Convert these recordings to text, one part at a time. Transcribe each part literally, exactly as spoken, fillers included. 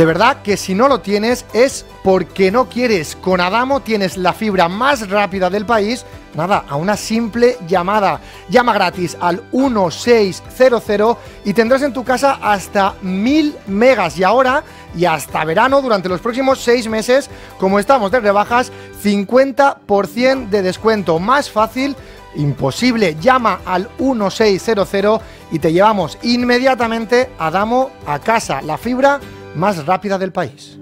De verdad que si no lo tienes es porque no quieres. Con Adamo tienes la fibra más rápida del país, nada, a una simple llamada. Llama gratis al uno seis cero cero y tendrás en tu casa hasta mil megas. Y ahora, y hasta verano, durante los próximos seis meses, como estamos de rebajas, cincuenta por ciento de descuento. Más fácil imposible. Llama al uno seis cero cero y te llevamos inmediatamente Adamo a casa. La fibra más rápida del país.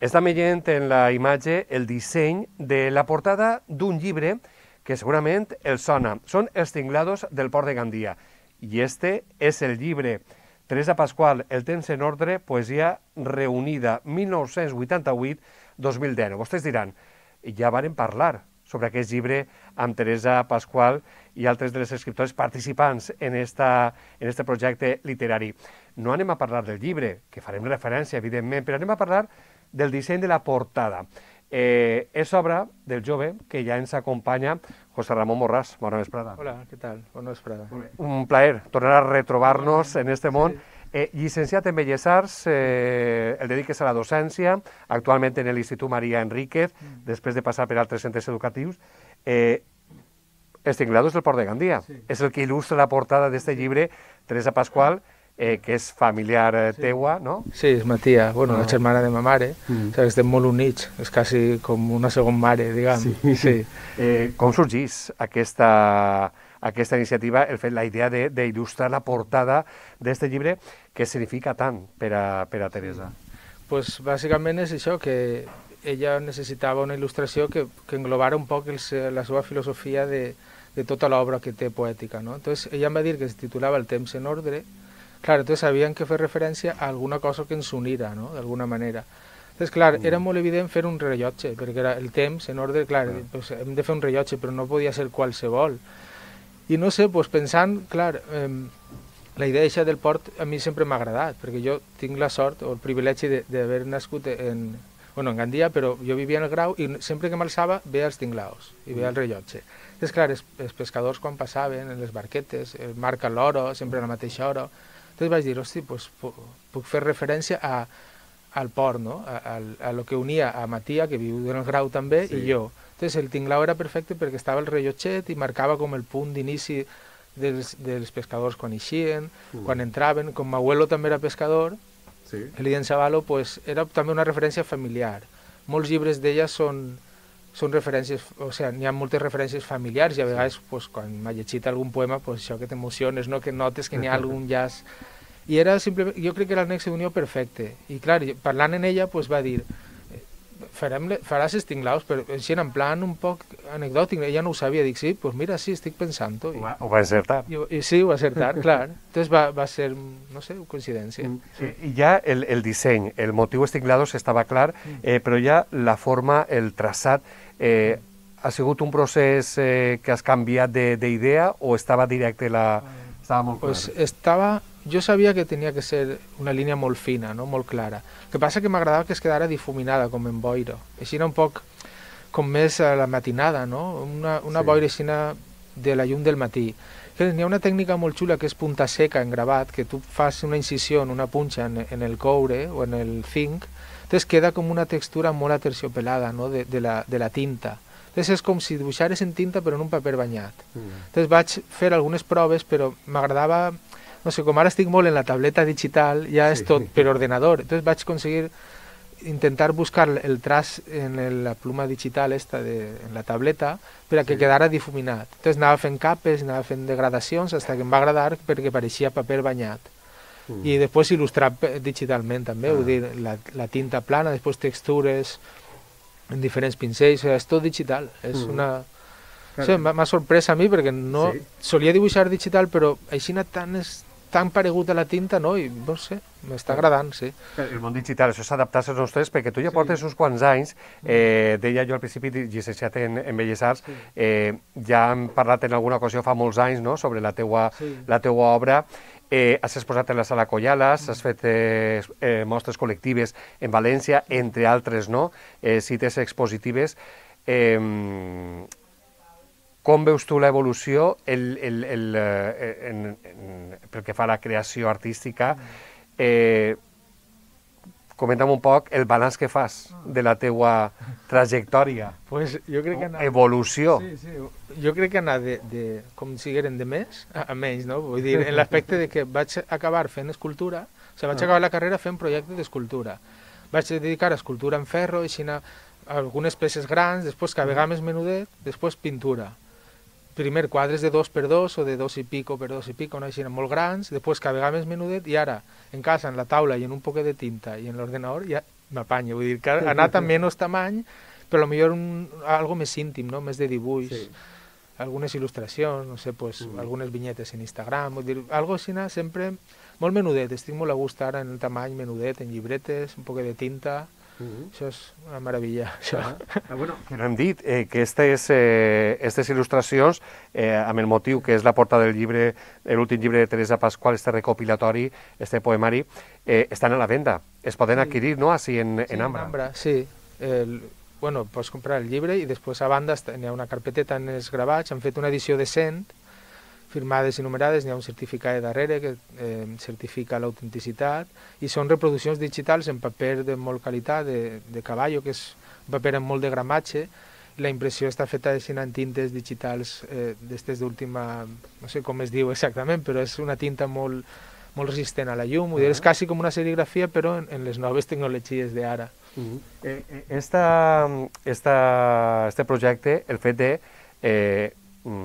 Estem veient en la imatge el disseny de la portada d'un llibre que segurament els sona. Són Els tinglados del port de Gandia. I este és el llibre. Teresa Pascual, El temps en ordre, poesia reunida, mil nou-cents vuitanta-vuit a dos mil deu. Vostès diran, ja varen parlar sobre aquest llibre amb Teresa Pascual i altres de les escriptores participants en esta, en este projecte literari. No anem a parlar del llibre, que farem referència, evidentment, però anem a parlar del disseny de la portada. Eh, és obra del jove que ja ens acompanya, José Ramón Borràs. Bona vesprada. Hola, què tal? Bona vesprada. Un plaer tornar a retrobar-nos en este món. Eh, llicenciat en Belles Arts, eh, el dediques a la docència, actualment en l'Institut Maria Enríquez, mm. després de passar per altres centres educatius. Eh, Els tinglados del port de Gandia. Sí. És el que il·lustra la portada d'este sí. llibre, Teresa Pascual, eh, que és familiar eh, sí. teua, no? Sí, és ma tia, bueno, no. la germana de ma mare, mm. o sigui, estem molt units, és quasi com una segona mare, diguem. Sí. Sí. Eh, com sorgís aquesta... aquesta iniciativa, el fet, la idea d'il·lustrar la portada d'aquest llibre que significa tant per a, per a Teresa? Pues bàsicament és això, que ella necessitava una il·lustració que, que englobara un poc el, la seva filosofia de, de tota l'obra que té poètica, ¿no? Entonces ella em va dir que es titulava El temps en ordre. Clar, entonces havien que fer referència a alguna cosa que ens unira, ¿no? D'alguna manera. Entonces, clar, era molt evident fer un rellotge, perquè era el temps en ordre, clar, pues hem de fer un rellotge, però no podia ser qualsevol. I no sé, doncs pensant, clar, eh, la idea eixa del port a mi sempre m'ha agradat, perquè jo tinc la sort o el privilegi d'haver nascut en, bueno, en Gandia, però jo vivia en el Grau i sempre que m'alçava veia els tinglaos i veia el rellotge. Entonces, clar, els, els pescadors quan passaven en les barquetes, el marca l'hora, sempre a la mateixa hora, entonces vaig dir, hosti, pues, puc fer referència a, al port, no? a, a, a lo que unia a ma tia, que viu en el Grau també, sí. i jo. Entonces el tinglao era perfecte perquè estava el rellotget i marcava com el punt d'inici dels, dels pescadors quan eixien, mm. quan entraven. Com m'abuelo també era pescador, sí. Elian Savalo, pues, era també una referència familiar. Molts llibres d'ella són, són referències, o sigui, n'hi ha moltes referències familiars i a vegades, sí. pues, quan m'ha llegit algun poema, pues, això que t'emociones, no? Que notes que n'hi ha algun llaç. I era simplement, jo crec que era el nexe d'unió perfecte. I clar, parlant en ella, pues, va dir... Farem, faràs els tinglaus, però així en plan un poc anecdòtic, ella no ho sabia, dic, sí, doncs pues mira, sí, estic pensant-ho. Ho, ho va acertar. I, i sí, ho va acertar, clar. Entonces va, va ser, no sé, coincidència. Mm. Sí. I ja el, el disseny, el motiu dels tinglados estava clar, eh, però ja la forma, el traçat, eh, ha sigut un procés eh, que has canviat d'idea o estava directe la... Estava molt clar? Pues estava... Jo sabia que tenia que ser una línia molt fina, no? Molt clara. El que passa que m'agradava que es quedara difuminada, com en boira. Així era un poc com més a la matinada, no? Una, una sí. boira així de la llum del matí. N'hi ha una tècnica molt xula que és punta seca en gravat, que tu fas una incisió en una punxa en, en el coure o en el zinc, entonces queda com una textura molt aterciopelada, no? de, de, la, de la tinta. Entonces és com si dibuixares en tinta però en un paper banyat. Mm. Entonces vaig fer algunes proves, però m'agradava... No sé, com ara estic molt en la tableta digital, ja és sí. tot per ordenador. Entonces vaig aconseguir intentar buscar el traç en la pluma digital esta de, en la tableta per a que sí. quedara difuminat. Entonces anava fent capes, anava fent degradacions, fins que em va agradar perquè pareixia paper banyat. Mm. I després il·lustrar digitalment també, ah. vull dir, la, la tinta plana, després textures en diferents pincells, o sigui, és tot digital. És mm. una... O sigui, m'ha sorprès a mi perquè no... Sí. Solia dibuixar digital, però així tan... És, tan paregut a la tinta, no? I no sé, m'està agradant, sí. El món digital, això s'adaptar-se als nostres, perquè tu ja sí. portes uns quants anys, eh, deia jo al principi, llicenciat en, en Belles Arts, sí. eh, ja hem parlat en alguna ocasió fa molts anys, no?, sobre la teua, sí. la teua obra, eh, has exposat en la Sala Collalas, mm. has fet eh, eh, mostres col·lectives en València, entre altres, no?, eh, cites expositives. Eh, com veus tu l'evolució el, el, el, eh, en, en, pel que fa a la creació artística? Eh, comenta'm un poc el balanç que fas de la teua trajectòria, pues jo crec que anar... evolució. Sí, sí. Jo crec que anar de, de com si eren de més a, a menys, no? Vull dir, en l'aspecte de que vaig acabar fent escultura, o sigui, vaig acabar la carrera fent projecte d'escultura. Vaig dedicar a escultura en ferro, així a algunes peces grans, després cabegar més menudet, després pintura. Primer quadres de dos per dos o de dos i pico per dos i pico, no? Així molt grans, després cabegar més menudet i ara, en casa, en la taula i en un poquet de tinta i en l'ordenador, ja m'apanyo. Vull dir que ha anat a menys tamany, però potser un, algo més íntim, no? Més de dibuix, sí. Algunes il·lustracions, no sé, pues, mm. algunes vinyetes en Instagram, vull dir, algo així, sempre molt menudet, estic molt a gust ara en el tamany menudet, en llibretes, un poquet de tinta. Uh-huh. Això és una meravella, això. Ah, ah, bueno, que no hem dit, eh, que aquestes eh, il·lustracions, eh, amb el motiu que és la portada del llibre, l'últim llibre de Teresa Pasqual, este recopilatori, este poemari, eh, estan a la venda. Es poden sí. adquirir, no?, així en, sí, en Ambra. En Ambra, sí. El, bueno, pots comprar el llibre i després a banda n'hi ha una carpeteta en els gravats, han fet una edició de cent, firmades i numerades, n'hi ha un certificat darrere que eh, certifica l'autenticitat i són reproduccions digitals en paper de molt qualitat, de, de cavallo, que és un paper amb molt de gramatge, i la impressió està feta en tintes digitals eh, d'estes d'última, no sé com es diu exactament, però és una tinta molt, molt resistent a la llum, uh -huh. és quasi com una serigrafia però en, en les noves tecnologies d'ara. Uh -huh. eh, esta, esta, este projecte, el fet de eh,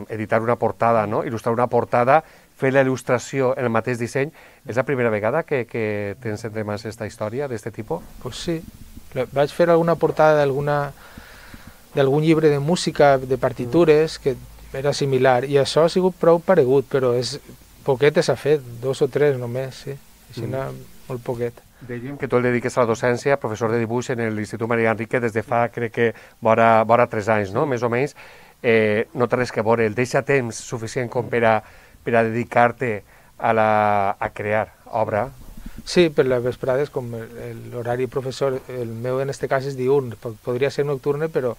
editar una portada, no? Il·lustrar una portada, fer la il·lustració en el mateix disseny, és la primera vegada que, que tens entre mans aquesta història d'aquest tipus? Pues sí, vaig fer alguna portada d'alguna d'algun llibre de música, de partitures, que era similar, i això ha sigut prou paregut, però és poquet s'ha fet, dos o tres només, sí, així mm. molt poquet. Dèiem que tu el dediques a la docència, professor de dibuix en l'Institut Maria Enrique des de fa, crec que, vora, vora tres anys, no?, més o menys. Eh, no té res que veure, el deixa temps suficient com per a, per a dedicar-te a, la, a crear obra? Sí, per les vesprades, com l'horari professor, el meu en este cas és diurn, podria ser nocturne, però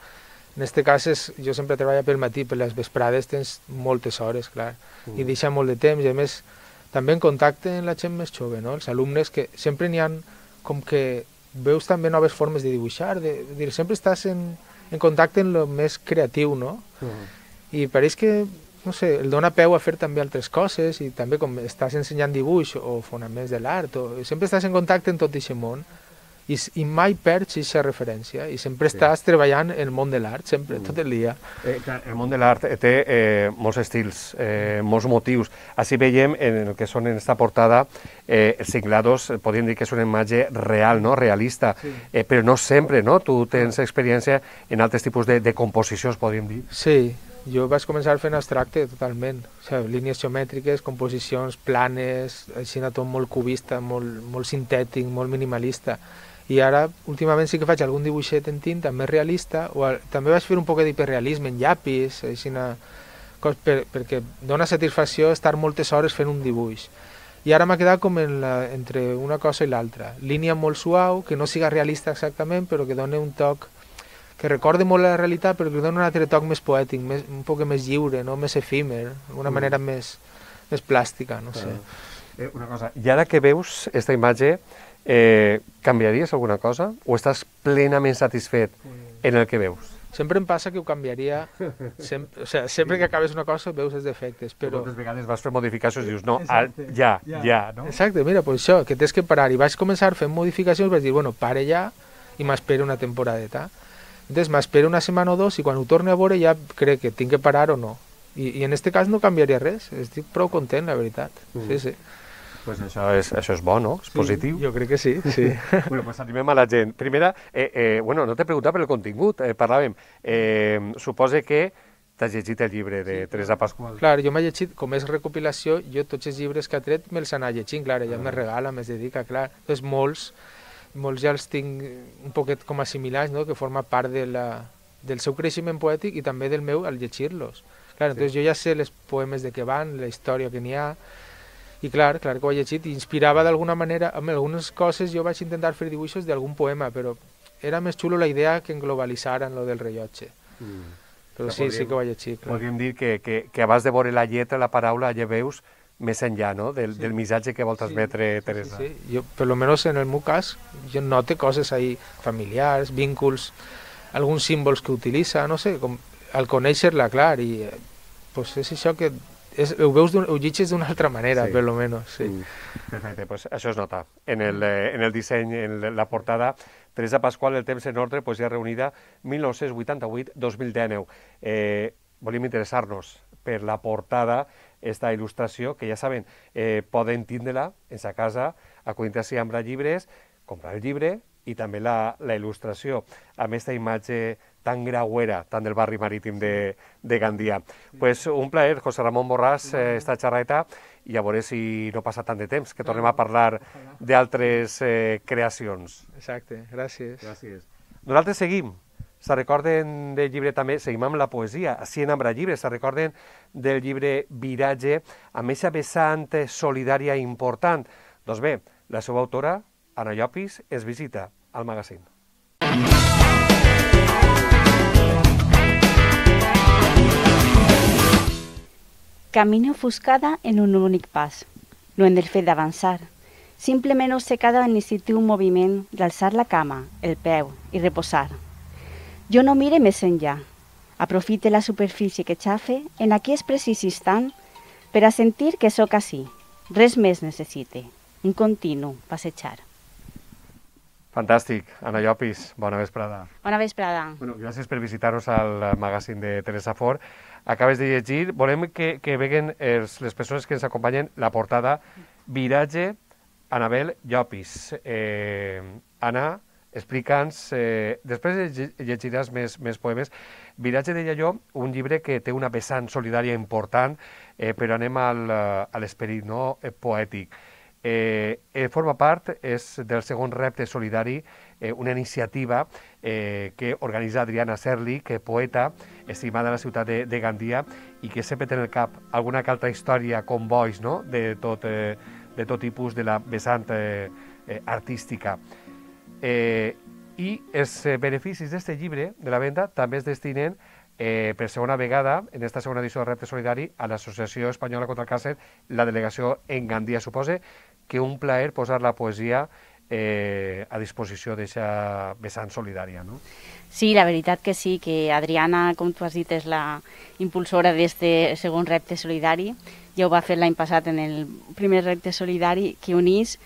en este cas és, jo sempre treballo pel matí, per les vesprades tens moltes hores, clar, mm. i deixa molt de temps, i a més també en contacte amb la gent més jove, no? Els alumnes que sempre n'hi ha com que veus també noves formes de dibuixar, de, de dir, sempre estàs en en contacte amb el més creatiu, no? Uh-huh. I pareix que, no sé, el dona peu a fer també altres coses i també com estàs ensenyant dibuix o fonaments de l'art, o sempre estàs en contacte amb tot aquest món i, i mai perds aquesta referència i sempre sí. estàs treballant en el món de l'art, sempre, uh-huh. tot el dia. Eh, clar, el món de l'art té eh, molts estils, eh, molts motius. Així veiem en el que són en aquesta portada eh, els cinglados, podríem dir que és una imatge real, no?, realista, sí. eh, però no sempre, no? Tu tens experiència en altres tipus de, de composicions, podríem dir. Sí, jo vaig començar fent abstracte totalment, o sigui, línies geomètriques, composicions planes, així tot molt cubista, molt, molt sintètic, molt minimalista. I ara, últimament, sí que faig algun dibuixet en tinta més realista, o a, també vaig fer un poquet d'hiperrealisme en llapis, així una, cos, per, perquè dona satisfacció estar moltes hores fent un dibuix. I ara m'ha quedat com en la, entre una cosa i l'altra. Línia molt suau, que no siga realista exactament, però que doni un toc que recorde molt la realitat, però que doni un altre toc més poètic, més, un poc més lliure, no? Més efímer, d'alguna mm. manera més, més plàstica, no sé. Eh, una cosa, i ara que veus aquesta imatge, eh, canviaries alguna cosa? O estàs plenament satisfet en el que veus? Sempre em passa que ho canviaria, sempre, o sigui, sempre que acabes una cosa veus els defectes, però... Moltes vegades vas fer modificacions i dius, no, Exacte, ja, ja, ja, no? Exacte, mira, pues això, que tens que parar, i vaig començar fent modificacions, vaig dir, bueno, pare ja, i m'espero una temporadeta. Entonces m'espero una setmana o dos, i quan ho torne a veure ja crec que tinc que parar o no. I, i en este cas no canviaria res, estic prou content, la veritat, mm. sí, sí. Pues això és, això és bo, no? És sí, positiu. Jo crec que sí, sí. Bueno, pues animem a la gent. Primera, eh, eh, bueno, no t'he preguntat per el contingut, eh, parlàvem. Eh, supose que t'has llegit el llibre de sí, Teresa Pasqual. Clar, jo m'he llegit, com és recopilació, jo tots els llibres que ha tret me'ls anar llegint, clar, ella ah. me regala, me'ls dedica, clar. Doncs molts, molts ja els tinc un poquet com assimilats, no?, que forma part de la, del seu creixement poètic i també del meu al llegir-los. Clar, sí. Doncs jo ja sé els poemes de què van, la història que n'hi ha, i clar, clar que ho he llegit, i inspirava d'alguna manera, amb algunes coses jo vaig intentar fer dibuixos d'algun poema, però era més xulo la idea que englobalitzaren lo del rellotge. Mm. però sí, sí que ho vaig llegir. Podríem dir que, que, que abans de veure la lletra, la paraula, ja veus més enllà, no?, del, sí. del missatge que vol transmetre sí, Teresa. Sí, sí. Jo, per lo menos en el meu cas, jo noto coses ahí familiars, vínculs, alguns símbols que utilitza, no sé, com al conèixer-la, clar, i eh, pues és això que és, ho veus, ho llegis d'una altra manera, sí. per lo menos, sí. Mm. Perfecte, pues això es nota. En el, eh, en el disseny, en la portada, Teresa Pasqual, El temps en ordre, poesia reunida, mil nou-cents vuitanta-vuit a dos mil dinou. Eh, volíem interessar-nos per la portada, esta il·lustració, que ja saben, eh, poden tindre-la en sa casa, acudint-s'hi amb llibres, comprar el llibre i també la, la il·lustració, amb aquesta imatge tan grauera, tan del barri marítim de, de Gandia. Sí. Pues un plaer, José Ramón Borràs, eh, esta xerreta, i a veure si no passa tant de temps, que tornem a parlar d'altres eh, creacions. Exacte, gràcies. Gràcies. Nosaltres seguim. Se recorden del llibre també, seguim amb la poesia, així en Ambra Llibre, se recorden del llibre Viratge, amb aquesta vessant solidària important. Doncs bé, la seva autora, Anna Llopis, es visita al magazín. Camino ofuscada en un únic pas, no en el fet d'avançar. Simplement obcecada en l'instintiu moviment d'alçar la cama, el peu i reposar. Jo no mire més enllà. Aprofite la superfície que xafe en aquest precís instant per a sentir que sóc ací. Res més necessite. Un continu passejar. Fantàstic. Anna Llopis, bona vesprada. Bona vesprada. Bueno, gràcies per visitar-nos al magazín de Teresa Fort. Acabes de llegir, volem que, que veguen els, les persones que ens acompanyen la portada Viratge, Anabel Llopis. Eh, Anna, explica'ns, eh, després llegiràs més, més poemes. Viratge, deia jo, un llibre que té una vessant solidària important, eh, però anem al, a l'esperit, no?, poètic. Eh, eh, forma part és del segon repte solidari, eh, una iniciativa eh, que organitza Adriana Serli, que és poeta, estimada a la ciutat de, de Gandia, i que sempre té en el cap alguna que altra història com boix, no?, de tot, eh, de tot tipus de la vessant eh, eh, artística. Eh, I els beneficis d'aquest llibre, de la venda, també es destinen eh, per segona vegada, en aquesta segona edició del Repte Solidari, a l'Associació Espanyola contra el Càncer, la delegació en Gandia. Suposa que un plaer posar la poesia eh, a disposició d'aquesta vessant solidària, no? Sí, la veritat que sí, que Adriana, com tu has dit, és la impulsora d'aquest segon repte solidari. Ja ho va fer l'any passat en el primer repte solidari, que unís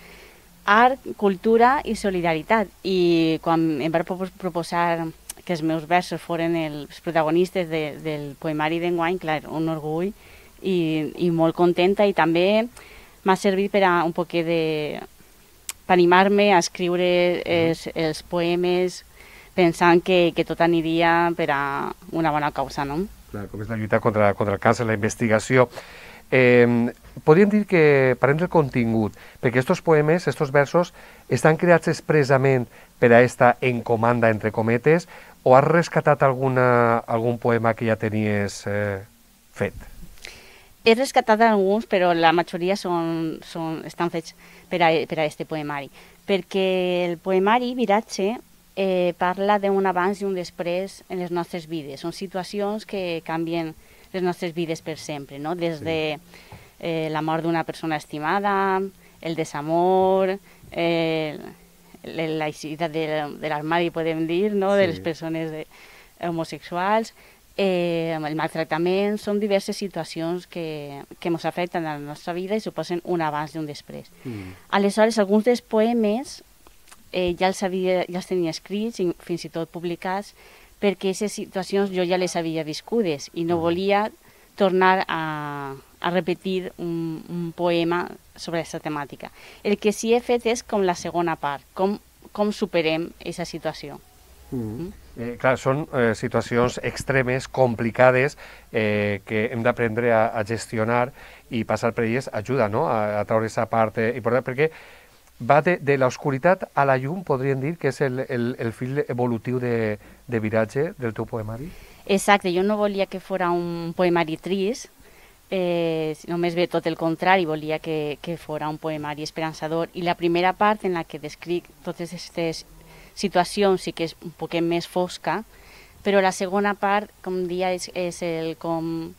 art, cultura i solidaritat. I quan em va proposar que els meus versos foren els protagonistes de, del poemari d'enguany, clar, un orgull i, i molt contenta, i també m'ha servit per a un poquet de... per animar-me a escriure els, els poemes pensant que, que tot aniria per a una bona causa, no? Clar, com és la lluita contra, contra el càncer, la investigació. Eh, podríem dir que, parlem del contingut, perquè aquests poemes, aquests versos, estan creats expressament per a aquesta encomanda, entre cometes, o has rescatat alguna, algun poema que ja tenies eh, fet? He rescatat alguns, però la majoria són, són, estan fets per a, per a este poemari, perquè el poemari Viratge eh, parla d'un abans i un després en les nostres vides. Són situacions que canvien les nostres vides per sempre, no? Des de eh, la mort d'una persona estimada, el desamor, eh, la eixida de, de l'armari, podem dir, no? De les persones de, homosexuals, eh, el maltractament, són diverses situacions que, que ens afecten a la nostra vida i suposen un abans i un després. Mm. Aleshores, alguns dels poemes eh, ja, els havia, ja els tenia escrits i fins i tot publicats, perquè aquestes situacions jo ja les havia viscudes i no volia tornar a, a repetir un, un poema sobre aquesta temàtica. El que sí he fet és com la segona part, com, com superem aquesta situació. Mm. Mm? Eh, clar, són eh, situacions extremes, complicades, eh, que hem d'aprendre a, a gestionar i passar per elles ajuda, no?, a, a treure aquesta part eh, important, perquè va de, de l'oscuritat a la llum, podríem dir, que és el, el, el fil evolutiu de, de Viratge del teu poemari? Exacte, jo no volia que fos un poemari trist, eh, només bé tot el contrari, volia que, que fos un poemari esperançador, i la primera part en la que descric totes aquestes situacions i que és un poquet més fosca, però la segona part, com dia, és, és el com,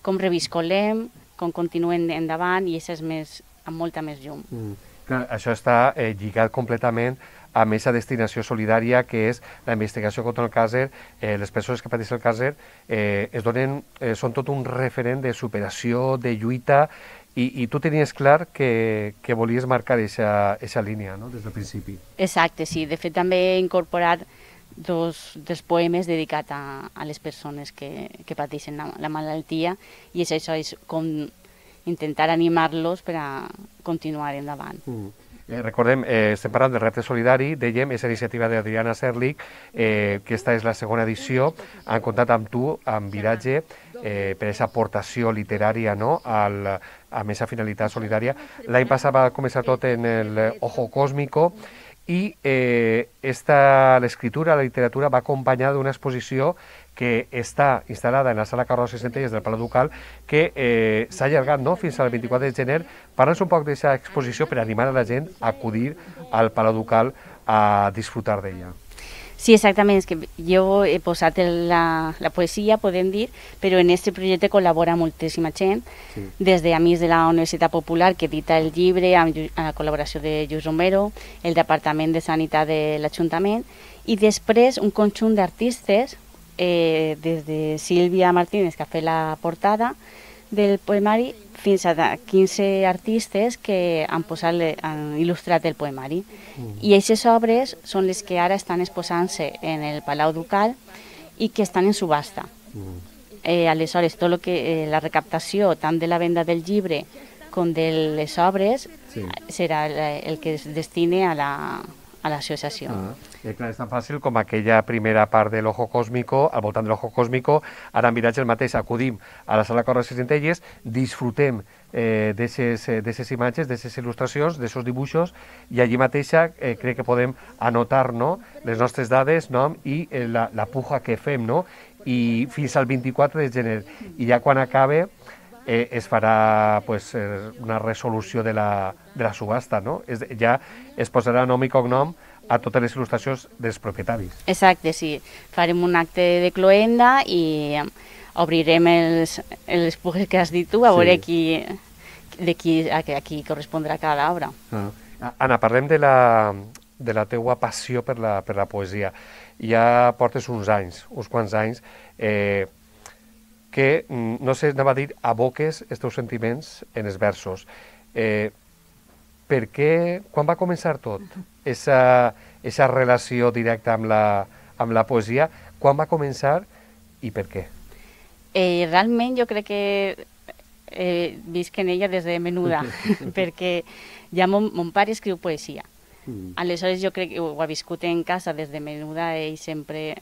com reviscolem, com continuem endavant, i això és més, amb molta més llum. Mm. Clar, això està eh, lligat completament amb aquesta destinació solidària que és la investigació contra el càncer. Eh, les persones que pateixen el càncer eh, es donen, eh, són tot un referent de superació, de lluita, i, i tu tenies clar que, que volies marcar aquesta línia, no?, des del principi. Exacte, sí. De fet, també he incorporat dos dels poemes dedicats a, a les persones que, que pateixen la, la malaltia, i és això, és com intentar animar-los per a continuar endavant. Mm. Eh, recordem, eh, estem parlant del repte solidari, dèiem, és iniciativa d'Adriana Serlich, eh, que esta és la segona edició, han comptat amb tu, amb Viratge, eh, per aquesta aportació literària, no?, al, amb aquesta finalitat solidària. L'any passat va començar tot en el Ojo Cósmico, i eh, l'escriptura, la literatura, va acompanyada d'una exposició que està instal·lada en la sala Carlos i Centelles del Palau Ducal, que eh, s'ha allargat, no?, fins al vint-i-quatre de gener. Parla'ns un poc d'aquesta exposició per animar a la gent a acudir al Palau Ducal a disfrutar d'ella. Sí, exactament, és que jo he posat la, la poesia, podem dir, però en aquest projecte col·labora moltíssima gent, sí. Des d'Amics de la Universitat Popular, que edita el llibre amb la col·laboració de Lluís Romero, el Departament de Sanitat de l'Ajuntament, i després un conjunt d'artistes, eh, des de Sílvia Martínez, que ha fet la portada del poemari, fins a quinze artistes que han, posat, han il·lustrat el poemari. Mm. I aquestes obres són les que ara estan exposant-se en el Palau Ducal i que estan en subhasta. Mm. Eh, aleshores, tot lo que, eh, la recaptació tant de la venda del llibre com de les obres, sí, serà el que es destine a la a l'associació. Ah, eh, clar, és tan fàcil com aquella primera part de l'Ojo Cósmico, al voltant de l'Ojo Cósmico, ara en Viratge el mateix, acudim a la sala Carles i Centelles, disfrutem eh, d'aquestes imatges, d'aquestes il·lustracions, d'aquests dibuixos, i allí mateixa eh, crec que podem anotar, no?, les nostres dades, nom, i eh, la, la puja que fem, no?, i fins al vint-i-quatre de gener. I ja quan acabe eh, es farà pues, eh, una resolució de la, de la subhasta, no? Es, ja es posarà nom i cognom a totes les il·lustracions dels propietaris. Exacte, sí. Farem un acte de cloenda i obrirem els, els pujes que has dit tu, a sí, veure qui, de qui, a, a qui correspondrà cada obra. Ah. Anna, parlem de la, de la teua passió per la, per la poesia. Ja portes uns anys, uns quants anys, eh, que, no sé, anava a dir, aboques els teus sentiments en els versos. Eh, per què, quan va començar tot, esa, esa relació directa amb la, amb la poesia, quan va començar i per què? Eh, realment jo crec que eh, visc en ella des de menuda, perquè ja mon, mon pare escriu poesia. Mm. Aleshores jo crec que ho ha viscut en casa des de menuda, ell sempre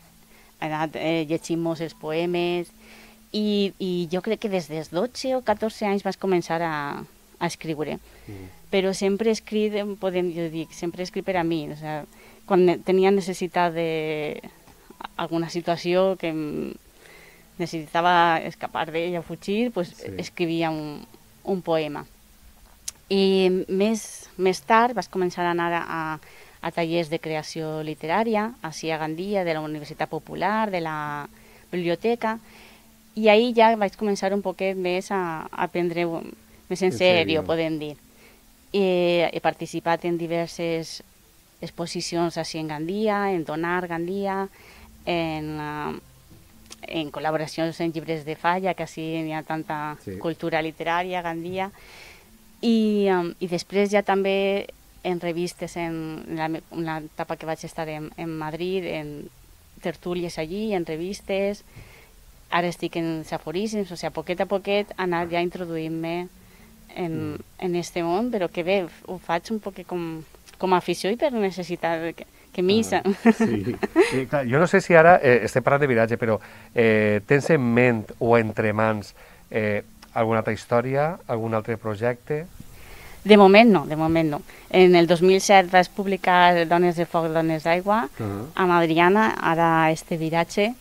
ha anat eh, llegint-nos els poemes, i, i jo crec que des dels dotze o catorze anys vas començar a, a escriure. Mm. Però sempre he escrit, podem dir, sempre he escrit per a mi. O sea, quan tenia necessitat de alguna situació que necessitava escapar d'ella o fugir, pues sí, escrivia un, un poema. I més, més tard vas començar a anar a, a tallers de creació literària, així a Gandia, de la Universitat Popular, de la biblioteca, i ahir ja vaig començar un poquet més a, a aprendre més en, en sèrio, podem dir. I he participat en diverses exposicions així en Gandia, en Donar Gandia, en, uh, en col·laboracions en llibres de falla, que així hi ha tanta sí, cultura literària a Gandia. I, um, i després ja també en revistes, en la, en la etapa que vaig estar en, en Madrid, en tertúlies allí, en revistes. Ara estic en aforismes, o sigui, a poquet a poquet anar ja introduint-me en, mm. en este món, però que bé, ho faig un poc com, com a afició i per necessitat que, que missa. Ah, sí. eh, clar, jo no sé si ara eh, estem parlant de Viratge, però eh, tens en ment o entre mans eh, alguna altra història, algun altre projecte? De moment no, de moment no. En el dos mil set vas publicar Dones de foc, dones d'aigua, uh -huh, amb Adriana, ara este Viratge,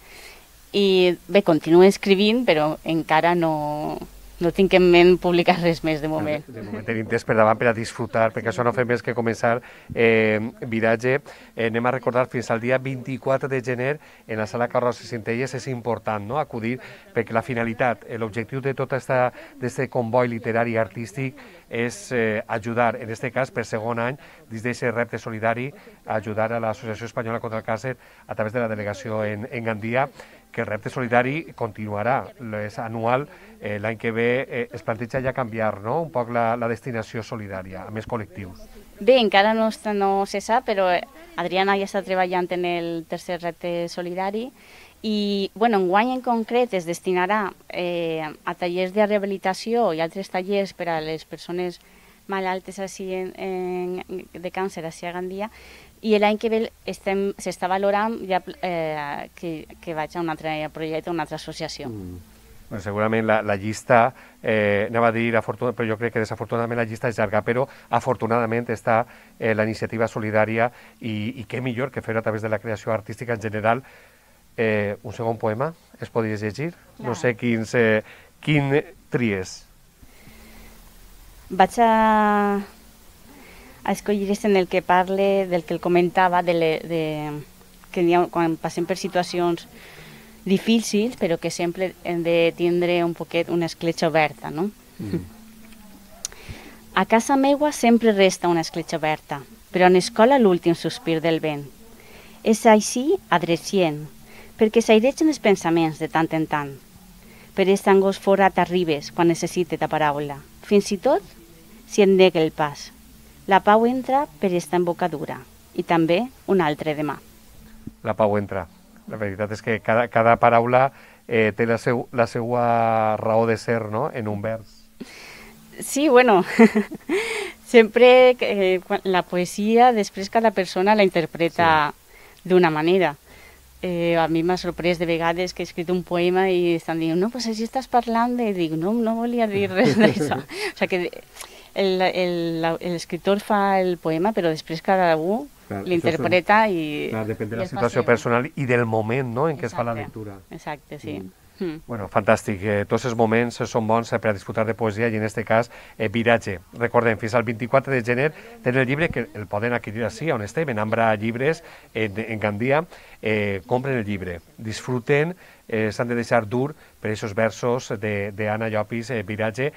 i bé, continuo escrivint, però encara no, no tinc en ment publicar res més de moment. De moment tenim temps per davant per a disfrutar, perquè això no fa més que començar eh, viratge. Eh, anem a recordar fins al dia vint-i-quatre de gener en la sala Carrosses Centelles. És important, no?, acudir, perquè la finalitat, l'objectiu de tot aquest comboi literari i artístic és eh, ajudar, en aquest cas, per segon any, dins d'aquest repte solidari, a ajudar a l'Associació Espanyola contra el Càncer a través de la delegació en, en Gandia, que el repte solidari continuarà, és anual, eh, l'any que ve eh, es planteja ja canviar, no?, un poc la, la destinació solidària, a més col·lectius. Bé, encara no, no se sap, però Adriana ja està treballant en el tercer repte solidari i, bueno, enguany en concret es destinarà eh, a tallers de rehabilitació i altres tallers per a les persones malaltes així en, en, de càncer així a Gandia, i l'any que ve s'està valorant ja, eh, que, que vaig a un altre projecte, a una altra associació. Mm. Bueno, segurament la, la llista, eh, anava a dir, però jo crec que desafortunadament la llista és llarga, però afortunadament està eh, la iniciativa solidària i, i què millor que fer a través de la creació artística en general. Eh, un segon poema, es podries llegir? Clar. No sé quins, eh, quin tries. Vaig a... a escollir en el que parle, del que el comentava, de, le, de que ha, quan passem per situacions difícils, però que sempre hem de tindre un poquet una escletxa oberta, no? Mm. A casa meua sempre resta una escletxa oberta, però en escola l'últim sospir del vent. És així adrecient, perquè s'airegen els pensaments de tant en tant. Per aquest angos forat arribes quan necessite ta paraula, fins i tot si et nega el pas. La pau entra per esta embocadura i també un altre demà. La pau entra. La veritat és que cada, cada paraula eh, té la, seu, la seva raó de ser, no?, en un vers. Sí, bueno, sempre eh, la poesia, després cada persona la interpreta sí. d'una manera. Eh, a mi m'ha sorprès de vegades que he escrit un poema i estan dient, no, pues així estàs parlant, i dic, no, no volia dir res d'això. O sigui que l'escriptor fa el poema, però després cada un l'interpreta i... Clar, depèn de la situació personal i del moment, no?, en què es fa la lectura. Exacte, sí. Mm. Mm. Bueno, fantàstic. Eh, tots els moments són bons per a disfrutar de poesia i en aquest cas eh, viratge. Recordem, fins al vint-i-quatre de gener tenen el llibre que el poden adquirir així, on estem, en Ambra Llibres, en, en Gandia. Eh, compren el llibre, disfruten, eh, s'han de deixar dur per aquests versos d'Anna Llopis, eh, viratge,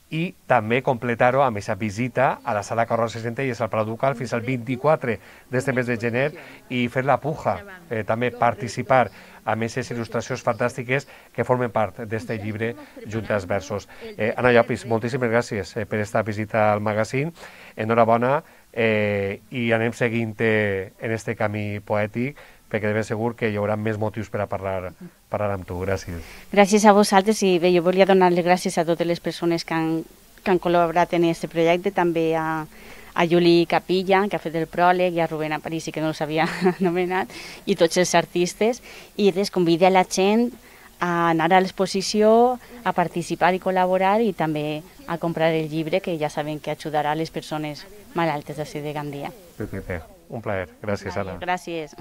i també completar-ho amb aquesta visita a la sala Carrosses Centelles al Palau Ducal fins al vint-i-quatre d'aquest mes de gener i fer la puja, eh, també participar amb aquestes il·lustracions fantàstiques que formen part d'aquest llibre junt als versos. Eh, Anna Llopis, moltíssimes gràcies eh, per aquesta visita al magazín, enhorabona eh, i anem seguint eh, en aquest camí poètic, perquè de ben segur que hi haurà més motius per a parlar, parlar amb tu. Gràcies. Gràcies a vosaltres i bé, jo volia donar les gràcies a totes les persones que han, que han col·laborat en aquest projecte, també a, a Juli Capilla, que ha fet el pròleg, i a Rubén Aparici, que no s'havia anomenat, i tots els artistes, i res, convida la gent a anar a l'exposició, a participar i col·laborar i també a comprar el llibre, que ja saben que ajudarà a les persones malaltes d'ací de Gandia. Perfecte, un plaer. Gràcies, Anna. Gràcies.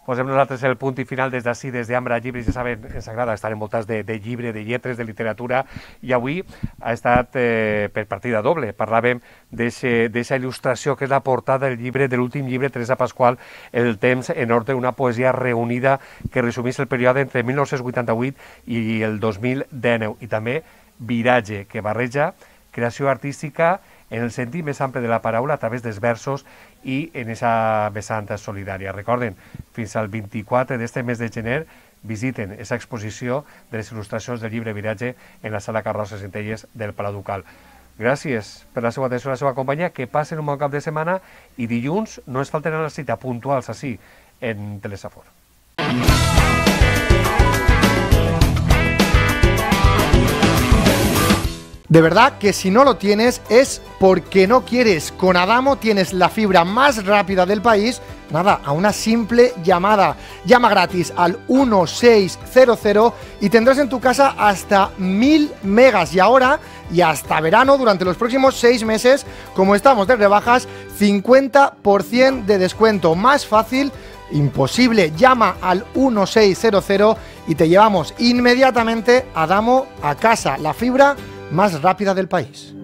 Posem nosaltres el punt i final des d'ací, des d'Ambra Llibres. Ja saben, ens agrada estar envoltats de, de llibre, de lletres, de literatura, i avui ha estat eh, per partida doble. Parlàvem d'aquesta il·lustració que és la portada del llibre, de l'últim llibre, Teresa Pasqual, El temps en ordre, una poesia reunida que resumís el període entre mil nou-cents vuitanta-vuit i el dos mil dinou. I també viratge, que barreja creació artística en el sentit més ample de la paraula a través dels versos i en aquesta vessant solidària. Recorden, fins al vint-i-quatre d'aquest mes de gener visiten aquesta exposició de les il·lustracions del llibre Viratge en la sala Carrosses Centelles del Palau Ducal. Gràcies per la seva atenció i la seva companyia, que passen un bon cap de setmana i dilluns no es falten a la cita puntuals així en Telesafor. De verdad que si no lo tienes es porque no quieres. Con Adamo tienes la fibra más rápida del país, nada, a una simple llamada. Llama gratis al uno seis cero cero y tendrás en tu casa hasta mil megas. Y ahora, y hasta verano, durante los próximos seis meses, como estamos de rebajas, cincuenta por ciento de descuento. Más fácil, imposible. Llama al uno seis cero cero y te llevamos inmediatamente Adamo a casa. La fibra más rápida del país.